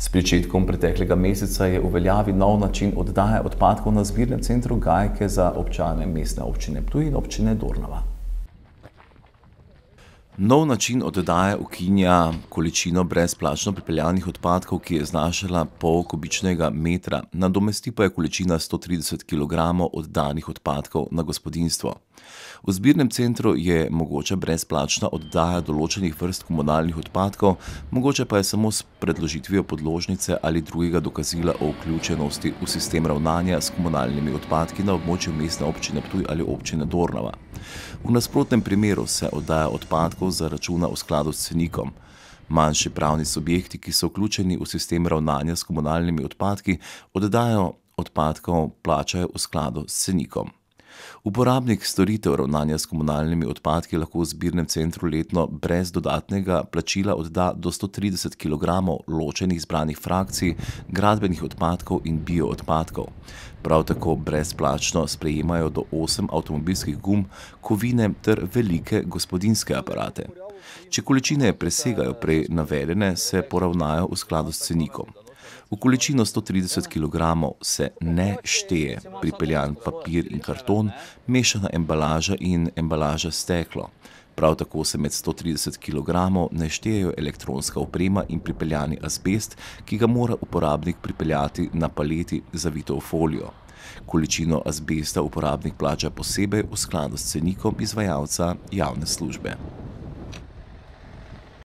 S pričetkom preteklega meseca je v veljavi nov način oddaje odpadkov na zbirnem centru Gajke za občane Mestne občine Ptuj in občine Dornava. Nov način oddaje ukinja količino brezplačno pripeljanih odpadkov, ki je znašala pol kubičnega metra, nadomesti pa je količina 130 kg oddanih odpadkov na gospodinjstvo. V zbirnem centru je mogoča brezplačna oddaja določenih vrst komunalnih odpadkov, mogoče pa je samo s predložitvijo podložnice ali drugega dokazila o vključenosti v sistem ravnanja s komunalnimi odpadki na območju Mestne občine Ptuj ali občine Dornava. V nasprotnem primeru se oddaja odpadkov zaračuna v skladu s cenikom. Manjši pravni subjekti, ki so vključeni v sistem ravnanja s komunalnimi odpadki, oddajo odpadkov plačajo v skladu s cenikom. Uporabnik storitev ravnanja s komunalnimi odpadki lahko v zbirnem centru letno brez dodatnega plačila odda do 130 kg ločenih zbranih frakcij, gradbenih odpadkov in bioodpadkov. Prav tako brezplačno sprejemajo do 8 avtomobilskih gum, kovine ter velike gospodinjske aparate. Če količine presegajo prej navedene, se poravnajo v skladu s cenikom. V količino 130 kg se ne šteje pripeljan papir in karton, mešana embalaža in embalaža steklo. Prav tako se med 130 kg ne štejejo elektronska oprema in pripeljani azbest, ki ga mora uporabnik pripeljati na paleti zavito v folijo. Količino azbesta uporabnik plača posebej v skladu s cenikom izvajalca javne službe.